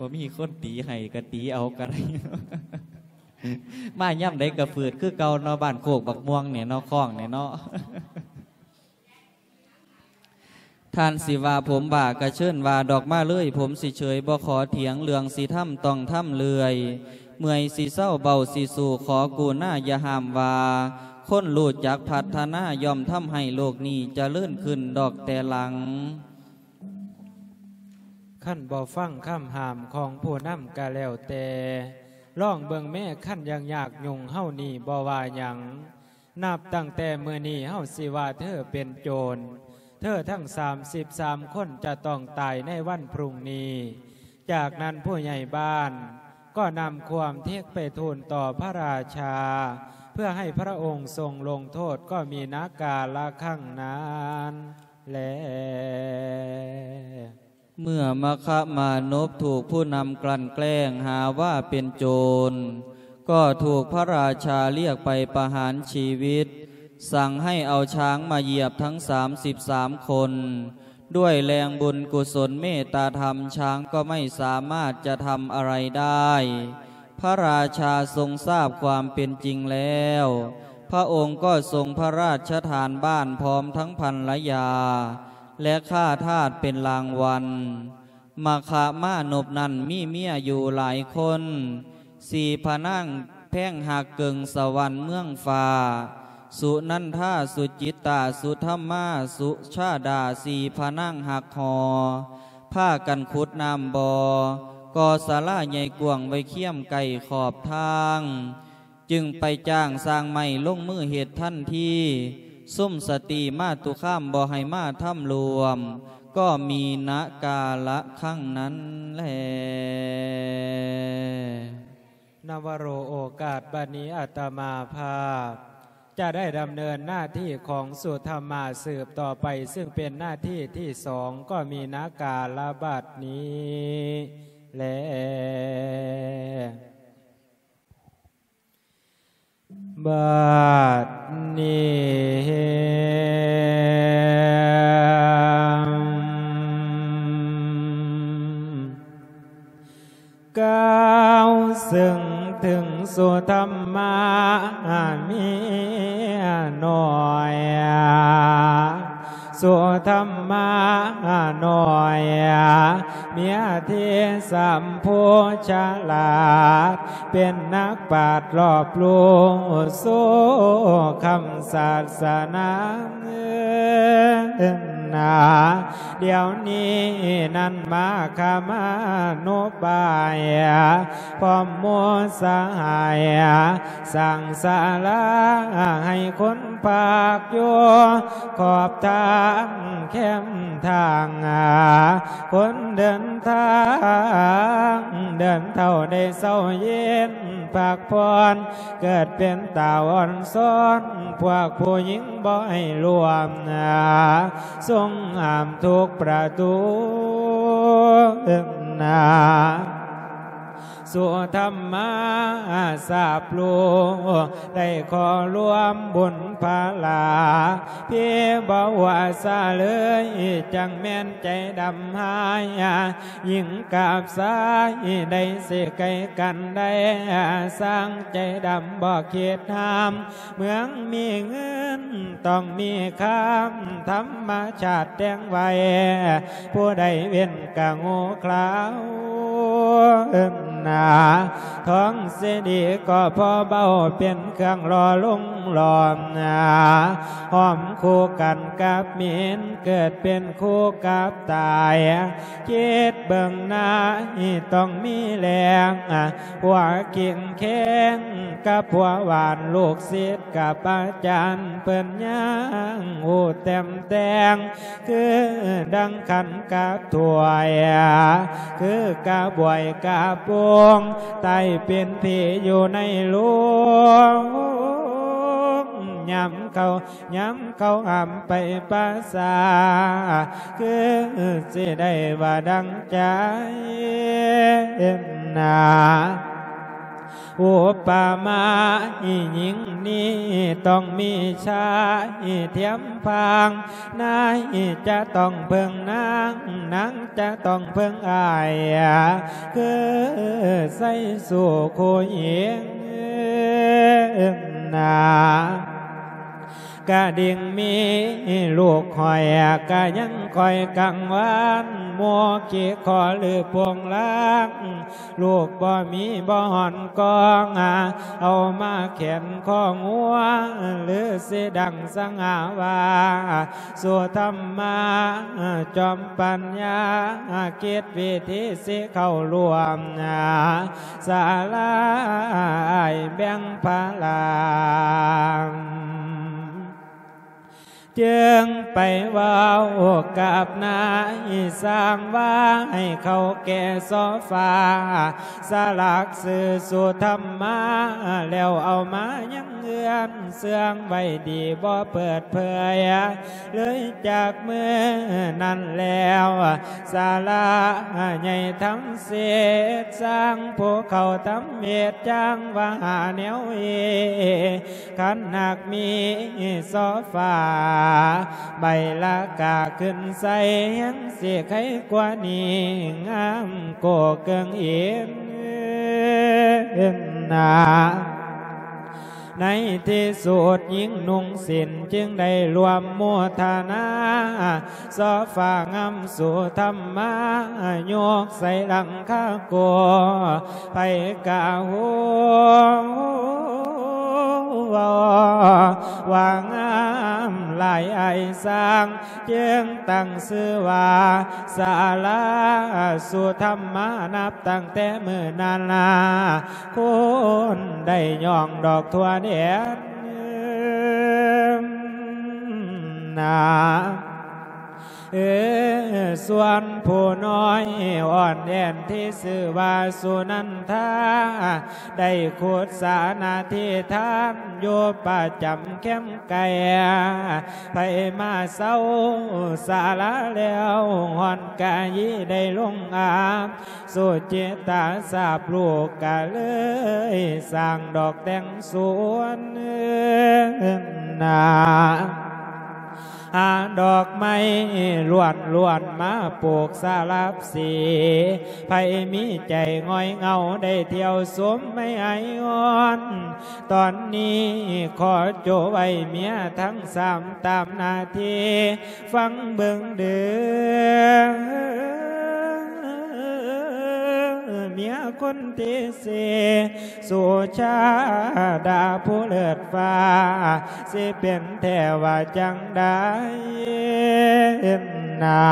ບໍ່ມີຄົນຕີໃຫ້ກະຕີເອົາກະໄດ້ ມາຍາມໃດກະຝືດຄືເກົ່າເນາະ ບ້ານໂຄກບັກມ່ວງນີ້ເນາະ ຄ້ອງນີ້ເນາະ. ທ່ານຊິວ່າຜົມບ້າກະເຊີນວ່າດອກມາເລີຍ ຜົມຊິເຊີຍບໍ່ຂໍຖຽງ ເລື່ອງຊິທຳຕ້ອງທຳເລື້ອຍ ເມື່ອຍຊິເຊົາເບົາຊິສູ້ ຂໍກະລຸນາຢ່າຫ້າມວ່າ ຄົນຮູ້ຈັກພັດທະນາ ຍ່ອມທຳໃຫ້ໂລກນີ້ຈະເລີນຂຶ້ນດອກແຕ່ຫຼັງ. ຄັນບໍ່ຟັງຄຳຫ້າມຂອງຜູ້ນຳກະແລ້ວແຕ່ ລອງເບິ່ງແມ້ ຄັນຍັງຍາກຫຍຸ້ງເຮົານີ້ບໍ່ວ່າຫຍັງ ນັບຕັ້ງແຕ່ມື້ນີ້ເຮົາຊິວ່າເທີເປັນໂຈນ ເທີທັງສາມສິບສາມຄົນຈະຕ້ອງຕາຍໃນວັນພລຸ່ງນີ້. ຈາກນັ້ນຜູ້ໃຫຍ່ບ້ານກໍນຳຄວາມເທັດໄປທູນຕໍ່ພະລາຊາ ເພື່ອໃຫ້ພະອົງຊົງລົງໂທດ ກໍມີນະກາລະຄັ້ງນັ້ນແລ. ເມື່ອມະຄະມານົບຖືກຜູ້ນຳກັ່ນແກ້ງຫາວ່າເປັນໂຈນ ກໍຖືກພະລາຊາລຽກໄປປະຫານຊີວິດ, ສັ່ງໃຫ້ເອົາຊ້າງມາຢຽບທັງສາມສິບສາມຄົນ. ດ້ວຍແຮງບຸນກຸສົນເມດຕາທຳ, ຊ້າງກໍໄມ່ສາມາດຈະທຳອະໄລໄດ້. ພະລາຊາຊົງຊາບຄວາມເປັນຈິງແລ້ວ, ພະອົງກໍຊົງພະລາຊະທານບ້ານພ້ອມທັງພັນລະຍາ ແລະ ຂ້າທາດເປັນລາງວັນ. ມະຄະມານົບນັ້ນມີເມຍຢູ່ຫຼາຍຄົນ, ສີ່ພະນາງແພງຮັກເກິ່ງສະຫວັນເມືອງຟ້າ, ສຸນັນທາ, ສຸຈິດຕາ, ສຸທຳມາ, ສຸຊາດາ, ສີ່ພະນາງຮັກຫໍ່ ພາກັນຂຸດນ້ຳບໍ່, ກໍ່ສາລາໃຫຍ່ກວ້າງໄວ້ຄຽມໃກ້ຂອບທາງ. ຈຶ່ງໄປຈ້າງຊ່າງໄມ້ລົງມືເຮັດທັນທີ. ຊຸມສະຕີມາຕຸຄາມບໍ່ໃຫ້ມາທຳລວມ, ກໍມີນະກາລະຄັ້ງນັ້ນແລ. ນະວະໂຣ ໂອກາດ ບັດນີ້ອາດຕະມາພາບຈະໄດ້ດຳເນີນໜ້າທີ່ຂອງສຸທຳມາສືບຕໍ່ໄປ, ຊຶ່ງເປັນໜ້າທີ່ທີສອງ, ກໍມີນະກາລະບັດນີ້ແລ. ບັດນີ້ ກ່າວເຊິ່ງເຖິງສຸທຳມາເມຍນ້ອຍ ສຸທຳມານ້ອຍ ເມຍທີ່ສຳໂພສະຫຼາດ ເປັນນັກປາດລອບຮູ້ໂຊຄຳສາສະໜາ ດຽວນີ້ນັ້ນມາຄະມານຸບາຍ ພ້ອມໝູ່ສະຫາຍ ສ້າງສາລາໃຫ້ຄົນພາກຢູ່ ຂອບທາງແຄມທາງ ຄົນເດີນທາງ ເດີນເທົ່າໄດ້ເຊົາເຢັນພັກຜ່ອນ ເກີດເປັນຕາອ່ອນຊອນ ພວກຜູ້ຍິງບໍ່ໃຫ້ລວມ ຊົງຫ້າມທຸກປະຕູ ສຸທຳມາຊາບຮູ້ ໄດ້ຂໍລວມບຸນພາລາ ພີບໍ່ຫົວສາເລີຍ ຈັ່ງແມ່ນໃຈດຳຮ້າຍ ຍິງກັບຊາຍໄດ້ຊິໃກ້ກັນໄດ້ ຊ່າງໃຈດຳບໍ່ຄິດຫ້າມ ເມືອງມີເງິນຕ້ອງມີຄຳ ທຳມະຊາດແຕ່ງໄວ້ ຜູ້ໃດເວັ້ນກະໂງ່ຄລາວ ທອງເສລີກໍພໍເບົາ ເປັນເຄື່ອງຫຼໍ່ຫຼົງຫຼອມ ຫອມຄູ່ກັນກັບເໝັນ ເກີດເປັນຄູ່ກັບຕາຍ ຄິດເບິ່ງໜ້າຕ້ອງມີແລງ ຜົວເຄັ່ງແຂງກັບຜົວຫວານ ລູກສິດກັບອາຈານ ເພິ່ນຍັງຮູ້ແຕ້ມແຕ່ງ ຄືດັ່ງຂັນກັບຖ້ວຍ ຄືກະບວຍກະໂປງ ຕາຍເປັນຜີຢູ່ໃນໂລງ ຍາມເຂົາ ຍາມເຂົາຫ້າມໄປປາສາດ ຄືຊິໄດ້ວ່າດັ່ງໃຈນາ. ອຸປະມາອີ່ຍິງນີ້ ຕ້ອງມີຊາຍທຽມພາງ ນາຍຈະຕ້ອງເພິ່ງນາງ ນາງຈະຕ້ອງເພິ່ງອ້າຍ ຄືໃສ່ສູ່ຄູ່ຍິງນາ. ກະດິ່ງມີລູກຂ້ອຍ ກະຍັງຄອຍກັງວານ ໝູ່ຂີ້ຂໍຫຼືໂປ່ງລາງ ລູກບໍ່ມີບໍ່ຮອນກອງ ເອົາມາແຂນຄອງຫົວ ຫຼືຊິດັງສັງຫາວ່າ ສຸທຳມາຈອມປັນຍາ ຄິດວິທີຊິເຂົ້າຮ່ວມ ສາລາອ້າຍແບ່ງພາລາ ຈຶ່ງໄປເວົ້າກັບນາຍຊ່າງວ່າ ໃຫ້ເຂົາແກ່ໂຊຟາ ສະຫຼັກຊື່ສຸທຳມາ ແລ້ວເອົາມາຍັງເຮືອນ ເຊື່ອງໄວ້ດີບໍ່ເປີດເຜີຍ ເລີຍຈາກມື້ນັ້ນແລ້ວ ສາລາໃຫຍ່ທຳເສດ ສ້າງພູເຂົາທຳເຫດ ຈ້າງວ່າຫາແນວເອ ຄັນຫາກມີໂຊຟາ ໃບລາກາຂຶ້ນໃສ່ ແຮງຊິໄຄກວ່ານີ້ ງາມໂກເກີງເອນນາ. ໃນທີ່ສຸດຍິງນຸ່ງສິ້ນ ຈຶ່ງໄດ້ລວມໂມທະນາ ໂຊຟາງາມສຸທຳມາ ຍົກໃສ່ຫຼັງຄາໂກ ໃຜກະຮູ້ວ່າ ວ່າງາມຫຼາຍອ້າຍຊ່າງ ຈຶ່ງຕັ້ງຊື່ວ່າ ສາລາສຸທຳມາ ນັບຕັ້ງແຕ່ມື້ນັ້ນລະ ຄົນໄດ້ຍ້ອງດອກທົ່ວແດນນາ. ເອີ ສ່ວນຜູ້ນ້ອຍອ່ອນແອນທີ່ຊື່ວ່າສຸນັນທາ ໄດ້ຂຸດສານາທິທານຢູ່ປະຈຳແຄມໄກ ໃຜມາເຊົາສາລາແລ້ວ ຮ້ອນກະຢີໄດ້ລົງອາບ ສຸຈິຕາຊາບລູກກະເລີຍສ້າງດອກແຕ່ງສວນນາ ຫາດອກໄມ້ລ້ວນໆ ມາປູກສະຫຼັບສີ ໃຜມີໃຈຫງອຍເຫງົາ ໄດ້ທ່ຽວຊົມໄມ້ໄອອ່ອນ ຕອນນີ້ຂໍໂຈະໄວ້ເມຍທັງສາມຕາມໜ້າທີ່ ຟັງເບິ່ງເດີ ເມຍຄົນທີສີ່ ສຸຊາດາຜູ້ເລີດຟ້າ ຊິເປັນແທ້ວ່າຈັ່ງໃດນາ.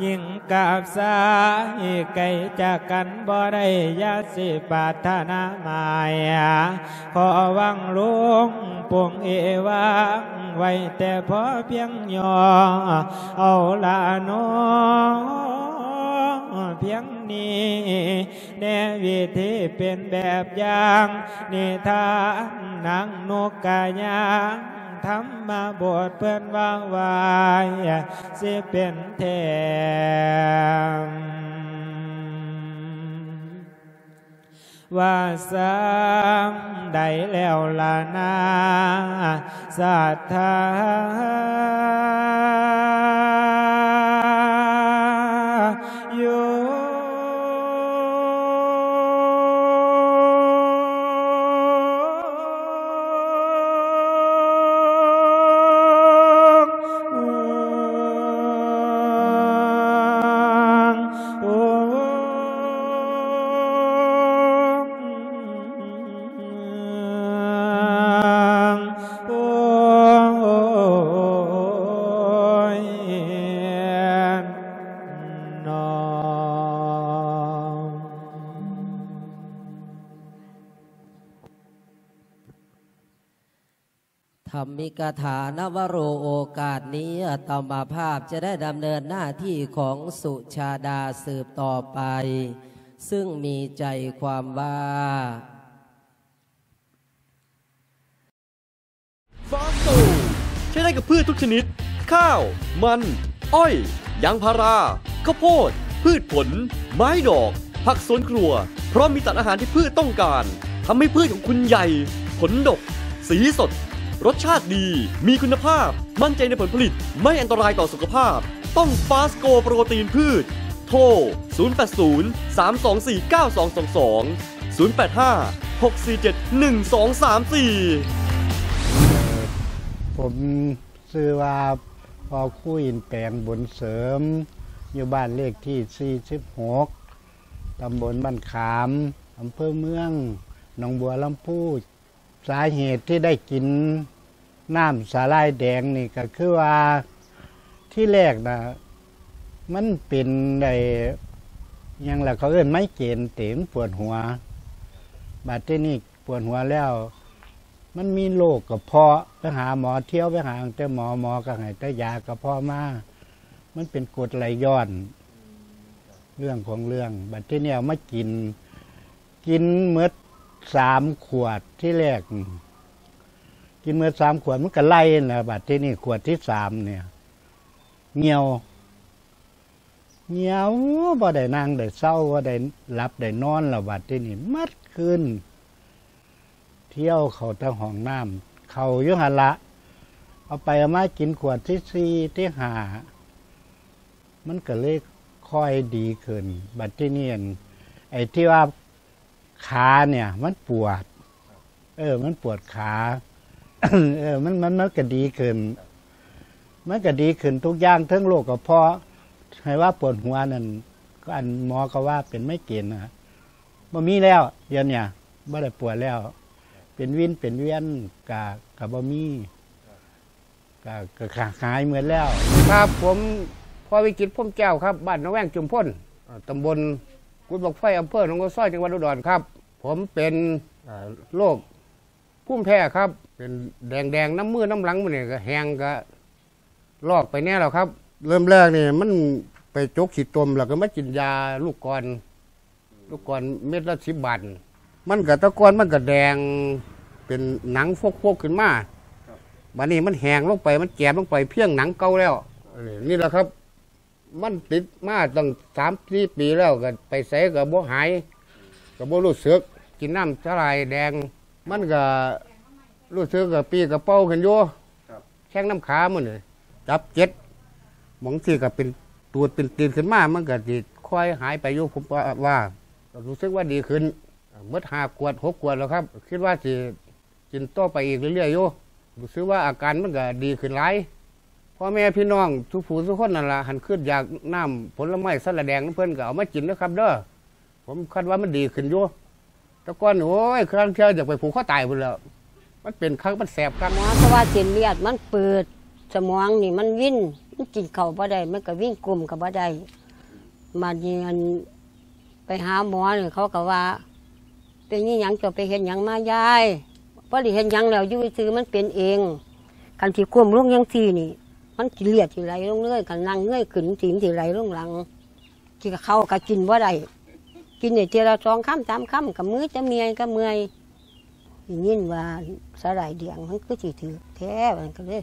ຍິງກັບຊາຍໄກຈາກກັນບໍ່ໄດ້ ຢ່າຊິປາດຖະໜາໝາຍ ຂໍຫວັງລຸງປົງເອຫວັງໄວ້ແຕ່ພໍພຽງຫຍໍ້ ເອົາລະໜໍ ພຽງນີ້ແດ່ ວິທີເປັນແບບຢ່າງ ນິທານນາງນົກກະຍາງ ທຳມະບົດເພິ່ນວ່າໄວ້ ຊິເປັນແທ້ ວ່າຊ່ຳໃດແລ້ວລະນາ ສັດທາຢູ່. ທຳມິກະຖານະວະໂຣ ໂອກາດນີ້ອາດຕະມາພາບຈະໄດ້ດຳເນີນໜ້າທີ່ຂອງສຸຊາດາສືບຕໍ່ໄປ, ຊຶ່ງມີໃຈຄວາມວ່າ Farm Store ໃຊ້ໄດ້ກັບພືດທຸກຊະນິດ, ຂ້າວ, ມັນ, ອ້ອຍ, ຢາງພາລາ, ເຂົ້າໂພດ, ພືດຜົນ, ໄມ້ດອກ, ຜັກສວນຄົວ, ພ້ອມມີສານອາຫານທີ່ພືດຕ້ອງການ, ທຳໃຫ້ພືດຂອງຄຸນໃຫຍ່, ຜົນດົກ, ສີສົດ, ລົດຊາດດີ, ມີຄຸນນະພາບ, ໝັ້ນໃຈໃນຜົນຜະລິດ, ໄມ່ອັນຕະລາຍຕໍ່ສຸຂະພາບ. ຕ້ອງ Fast Go ໂປຣຕີນພືດ. ໂທ ສູນແປດສູນ ສາມສອງສີ່ ເກົ້າສອງສອງສອງ ສູນແປດຫ້າ ຫົກສີ່ເຈັດ ໜຶ່ງສອງສາມສີ່. ຜົມຊື່ວ່າ ພໍ່ຄູ ອິນແປງ ບຸນເສີມ ຢູ່ບ້ານເລກທີສີ່ສິບຫົກ ຕຳບົນບ້ານຂາມ ອຳເພີເມືອງໜອງບົວລຳພູ. ສາເຫດທີ່ໄດ້ກິນນ້ຳສາຫຼ່າຍແດງນີ້ກໍຄືວ່າ ທີແລກນະ ມັນເປັນໄດ້ ຫຍັງລະ ເຂົາເອີ້ນໄມເກຣນຕິ ມັນປວດຫົວ. ບາດທີນີ້ປວດຫົວແລ້ວ ມັນມີໂລກກະເພາະ ໄປຫາໝໍ ທ່ຽວໄປຫາແຕ່ໝໍ ໝໍກໍໃຫ້ແຕ່ຢາກະເພາະມາ ມັນເປັນກົດໄຫຼຍ້ອນ ເລື່ອງຂອງເລື່ອງ. ບາດທີນີ້ເອົາມາກິນ ກິນໝົດສາມຂວດທີແລກ ກິນໝົດສາມຂວດ ມັນກໍໄລ່ຫັ້ນແຫຼະ. ບາດທີນີ້ຂວດທີສາມນີ້ ຫ່ຽວ ຫ່ຽວ ບໍ່ໄດ້ນັ່ງໄດ້ເຊົາ ບໍ່ໄດ້ຫຼັບໄດ້ນອນແລ້ວ. ບາດທີນີ້ໝົດຄືນ ທ່ຽວເຂົ້າແຕ່ຫ້ອງນ້ຳ ເຂົ້າຢູ່ຫັ້ນລະ. ເອົາໄປເອົາມາກິນຂວດທີສີ່ທີຫ້າ ມັນກໍເລີຍຄ່ອຍດີຂຶ້ນ. ບາດທີນີ້ ອັນ ໄອ້ທີ່ວ່າຂາເນີ້ຍມັນປວດ ເອີ ມັນປວດຂາ ເອີ ມັນ ມັນ ມັນກໍດີຂຶ້ນ ມັນກໍດີຂຶ້ນທຸກຢ່າງ ເຖິງໂລກກະເພາະ ໃຫ້ວ່າປວດຫົວນັ້ນ ກໍອັນໝໍກໍວ່າເປັນໄມເກຣນນະ ບໍ່ມີແລ້ວ ດຽວເນີ້ຍບໍ່ໄດ້ປວດແລ້ວ ເປັນວິນເປັນວຽນກະ ກະບໍ່ມີ ກະ ກະ ກະຫາຍໝົດແລ້ວ. ຄັບ ຜົມ ພໍ່ວິຈິດ ພົມແກ້ວ ຄັບ ບ້ານໜອງແວງ ຈຸມພົນ ເອີ ຕຳບົນກຸດບັກໄຟ ອຳເພີໜອງໂອຊອຍ ຈັງຫວັດອຸດອນ ຄັບ. ຜົມເປັນ ເອີ ໂລກພູມແພ້ ຄັບ ເປັນແດງໆ ນຳມືນຳຫຼັງ ມື້ນີ້ກະແຫ້ງກະ ລອກໄປແດ່ແລ້ວຄັບ. ເລີ່ມແລກນີ້ມັນໄປຈົກຂີ້ຕົມ ແລ້ວກໍມາກິນຢາລູກກອນ ລູກກອນເມັດລະສິບບາດ ມັນກະ ແຕ່ກ່ອນມັນກະແດງເປັນໜັງຟົກໆຂຶ້ນມາ ບາດນີ້ມັນແຫ້ງລົງໄປ ມັນແຈມລົງໄປພຽງໜັງເກົ່າແລ້ວ. ນີ້ລະຄັບ ມັນຕິດມາຕັ້ງສາມສີ່ປີແລ້ວ ກະໄປໃສກະບໍ່ຫາຍ ກະບໍ່ຮູ້ສຶກ. ກິນນ້ຳສາຫຼ່າຍແດງ ມັນກະ ຮູ້ສຶກກະປີ້ກະເປົ່າຂຶ້ນຢູ່ ແຂ້ງນຳຂາມື້ນີ້ ຈັບເຈັບ ບາງທີກະເປັນຕູດເປັນຕີນຂຶ້ນມາ ມັນກະຊິຄ່ອຍຫາຍໄປຢູ່ ຜົມວ່າ ກະຮູ້ສຶກວ່າດີຂຶ້ນ ໝົດຫ້າຂວດຫົກຂວດແລ້ວຄັບ. ຄິດວ່າຊິກິນຕໍ່ໄປອີກເລື້ອຍໆຢູ່ ຮູ້ສຶກວ່າອາການມັນກະດີຂຶ້ນຫຼາຍ. ພໍ່ແມ່ພີ່ນ້ອງທຸກຜູ້ທຸກຄົນນັ້ນລະ ຄັນຄຶດຢາກນ້ຳຜົນລະໄມ້ສາຫຼ່າຍແດງນຳເພິ່ນ ກະເອົາມາກິນເດີຄັບເດີ. ຜົມຄາດວ່າມັນດີຂຶ້ນຢູ່ ແຕ່ກ່ອນນີ້ ໂອ້ຍ ຄາງເທື່ອຢາກໄປຜູກຄໍຕາຍພຸ້ນແຫຼ້ວ ມັນເປັນຄັກ ມັນແສບຄັກ. ໝໍກໍວ່າເສັ້ນເລືອດມັນເປີດ ສະໝອງນີ້ມັນວິນ ມັນກິນເຂົ້າບໍ່ໄດ້ ມັນກໍວິນ ກົ້ມກໍບໍ່ໄດ້ ບາດນີ້ ອັນ ໄປຫາໝໍນີ້ ເຂົາກໍວ່າ ເປັນອີ່ຫຍັງ ເຈົ້າໄປເຮັດຫຍັງມາຍາຍ? ບໍ່ໄດ້ເຮັດຫຍັງແລ້ວ ຢູ່ຊື່ມັນເປັນເອງ ຄັນຊິກົ້ມລົງຈັ່ງຊີ້ນີ້ ມັນຊິເລືອດຊິໄຫຼລົງເລີຍ ຄັນນັ່ງເງີຍຂຶ້ນຈັ່ງຊີ້ ມັນຊິໄຫຼລົງຫຼັງ. ກິນເຂົ້າກໍກິນບໍ່ໄດ້ ກິນໄດ້ເທື່ອລະສອງຄຳສາມຄຳ ກໍເມື່ອຍ ຈະເມື່ອຍ ກໍເມື່ອຍ. ໄດ້ຍິນວ່າສາຫຼ່າຍແດງມັນຄືຊິຖືກແທ້ ວ່າຊັ້ນ ກໍເລີຍ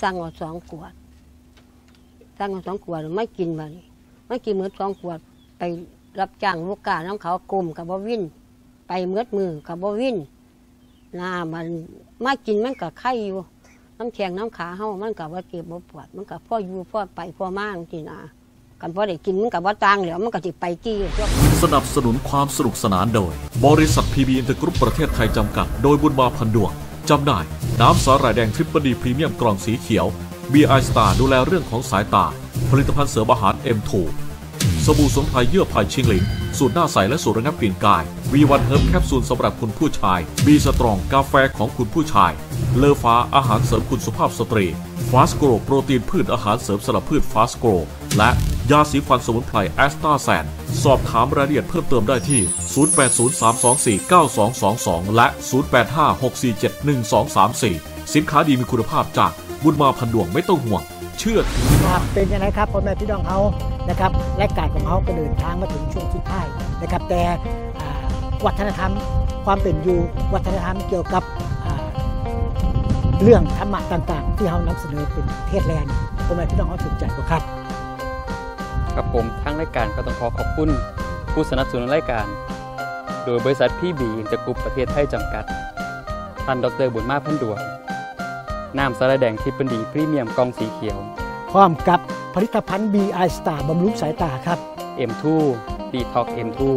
ສັ່ງເອົາສອງຂວດ ສັ່ງເອົາສອງຂວດມາກິນ. ບາດນີ້ມາກິນໝົດສອງຂວດ ໄປຮັບຈ້າງລູກຄ້ານຳເຂົາ ກົ້ມກໍບໍ່ວິນ ໄປໝົດມື້ກໍບໍ່ວິນ. ນາ ມັນມາກິນມັນກະໄຄຢູ່ ນຳແຂ້ງນຳຂາເຮົາ ມັນກະບໍ່ເຈັບບໍ່ປວດ ມັນກະພໍຢູ່ພໍໄປພໍມາຈັ່ງຊີ້ນາ. ຄັນບໍ່ໄດ້ກິນມັນກະບໍ່ຕ່າງແລ້ວ ມັນກະຊິໄປຕິ. ສະໜັບສະໜູນຄວາມສະໜຸກສະໜານໂດຍ ບໍລິສັດ ພີບີ ອິນເຕີກຣຸບ ປະເທດໄທ ຈຳກັດ ໂດຍ ບຸນມາ ພັນດວງ. ຈຳໜ່າຍ ນ້ຳສາຫຼ່າຍແດງ Tripple D ພຣີມຽມ ກ່ອງສີຂຽວ. ບີ ໄອ ສະຕາ ດູແລເລື່ອງຂອງສາຍຕາ. ຜະລິດຕະພັນເສີມອາຫານ ເອັມ ທູ ສະບູ່ສະໝຸນໄພເຍື່ອໄຜ່ຊິງຫຼິງ ສູດໜ້າໃສ ແລະ ສູດລະງັບກິ່ນກາຍ. ວີວັນເຮີບ ແຄບຊູນສຳລັບຄຸນຜູ້ຊາຍ. ບີສະຕຣອງ ກາແຟຂອງຄຸນຜູ້ຊາຍ. ເລີຟ້າ ອາຫານເສີມຄຸນສຸພາບສະຕຣີ. ຟາສໂກຣ ໂປຣຕີນພືດ ອາຫານເສີມສຳລັບພືດ ຟາສໂກຣ ແລະ ຢາສີຟັນສະໝຸນໄພ ແອສຕາແຊນ. ສອບຖາມລາຍລະອຽດເພີ່ມເຕີມໄດ້ທີ່ ສູນແປດສູນ ສາມສອງສີ່ ເກົ້າສອງສອງສອງ ແລະ ສູນແປດຫ້າ ຫົກສີ່ເຈັດ ໜຶ່ງສອງສາມສີ່. ສິນຄ້າດີມີຄຸນນະພາບຈາກບຸນມາ ພັນດວງ ໄມ່ຕ້ອງຫ່ວງ ເຊື່ອຖືໄດ້. ເປັນຈັ່ງໃດຄັບ ພໍ່ແມ່ພີ່ນ້ອງເຮົານະຄັບ ລາຍການຂອງເຮົາກໍເດີນທາງມາເຖິງຊ່ວງສຸດທ້າຍນະຄັບ ແຕ່ ອ່າ ວັດທະນະທຳຄວາມເປັນຢູ່ ວັດທະນະທຳກ່ຽວກັບ ອ່າ ເລື່ອງທຳມະຕ່າງໆ ທີ່ເຮົານຳສະເໜີເປັນເທດແລນ ພໍ່ແມ່ພີ່ນ້ອງເຮົາສົນໃຈບໍ່ຄັບ? ຄັບຜົມ ທາງລາຍການກໍຕ້ອງຂໍຂອບຄຸນຜູ້ສະໜັບສະໜູນລາຍການ ໂດຍບໍລິສັດ ພີບີ ອິນເຕີກຣຸບ ປະເທດໄທ ຈຳກັດ ທ່ານ ດອກເຕີ ບຸນມາ ພັນດວງ. ນ້ຳສາຫຼ່າຍແດງ Tripple D ພຣີມຽມ ກ່ອງສີຂຽວ ພ້ອມກັບຜະລິດຕະພັນ ບີ ໄອ ສະຕາ ບຳລຸງສາຍຕາຄັບ. ເອັມ ທູ ດີທັອກ ເອັມ ທູ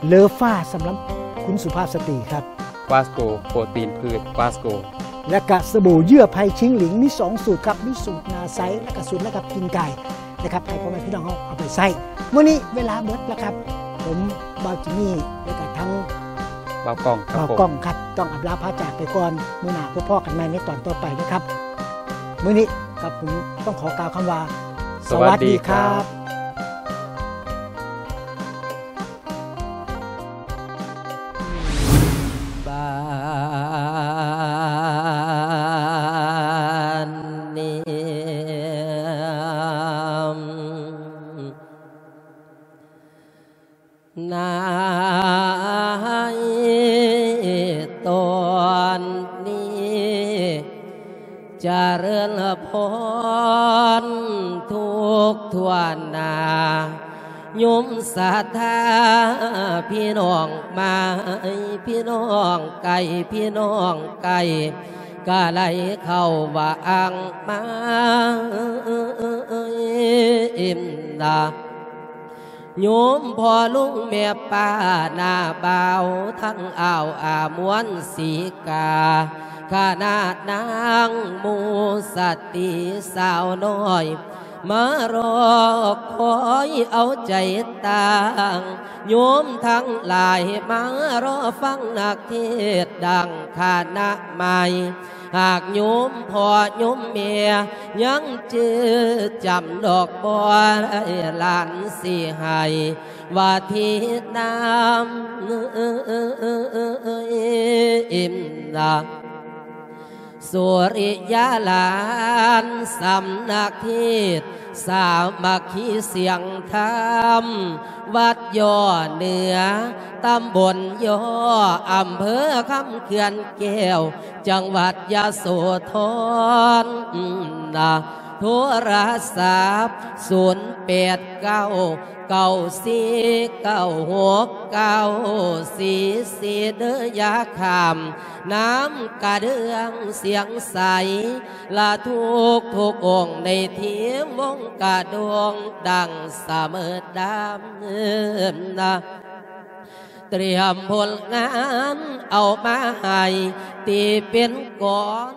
ເລີຟ້າ ສຳລັບຄຸນສຸພາບສະຕຣີຄັບ. ຟາສໂກ ໂປຣຕີນພືດ ຟາສໂກ. ແລະກະສະບູເຍື່ອໄພຊິງຫຼິງ ມີສອງສູດຄັບ ມີສູດໜ້າໃສ ແລະກະສູດລະດັບກິ່ງກ່າຍນະຄັບ ໃຫ້ພໍ່ແມ່ພີ່ນ້ອງເຮົາເອົາໄປໃຊ້. ມື້ນີ້ເວລາເບິດແລ້ວຄັບ ຜົມບ່າວຈິມມີ ແລະກະທັງ ບ່າວກ້ອງຄັບ ບ່າວກ້ອງຄັບ ຕ້ອງອຳລາພາຈາກໄປກ່ອນ. ມື້ໜ້າພົບພໍ້ກັນໃໝ່ໃນຕອນຕໍ່ໄປນະຄັບ. ມື້ນີ້ກັບຜົມຕ້ອງຂໍກ່າວຄຳວ່າ ສະຫວັດດີຄັບ. ສະຫວັດດີຄັບ. ບ້ານນີ້ ນາຍຕອນນີ້ ຈະເລີນພອນທຸກທົ່ວໜ້າ ໂຍມສັດທາ ພີ່ນ້ອງມາຍ ພີ່ນ້ອງໄກ ພີ່ນ້ອງໃກ້ ກະໄຫຼເຂົ້າວ່າອ່າງມາ ນະ ໂຍມພໍ່ລຸງແມ່ປ້າ ນ້າບ່າວທັງອ້າວອາ ມວນສີກາ ຄະນະນາງໝູ່ສະຕີສາວນ້ອຍ ມາລໍຄອຍເອົາໃຈຕັ້ງ ໂຍມທັງຫຼາຍມາລໍຟັງນັກເທດ ດັ່ງຄະນະໃໝ່ ຫາກໂຍມພໍ່ໂຍມແມ່ ຍັງຈື່ຈຳດອກບໍ່ໄດ້ ຫຼານຊິໃຫ້ວ່າທີນາມ ນະ ສຸລິຍາຫຼານ ສຳນັກເທດ ສາມັກຄີສຽງທຳ ວັດຍໍເໜືອ ຕຳບົນຍໍ ອຳເພີຄຳເຂື່ອນແກ້ວ ຈັງຫວັດຍະໂສທອນ ນະ ໂທລະສັບ ສູນແປດເກົ້າ ເກົ້າສີ່ເກົ້າຫົກເກົ້າສີ່ສີ່ ເດີ ຢ່າຂ້າມນ້ຳກະເດືອງສຽງໃສ ລະທຸກທຸກອົງໃນທີມວົງກະດົງ ດັ່ງສະເໝີດຳ ນະ ຕຽມຜົນງານເອົາມາໃຫ້ ທີ່ເປັນກອນ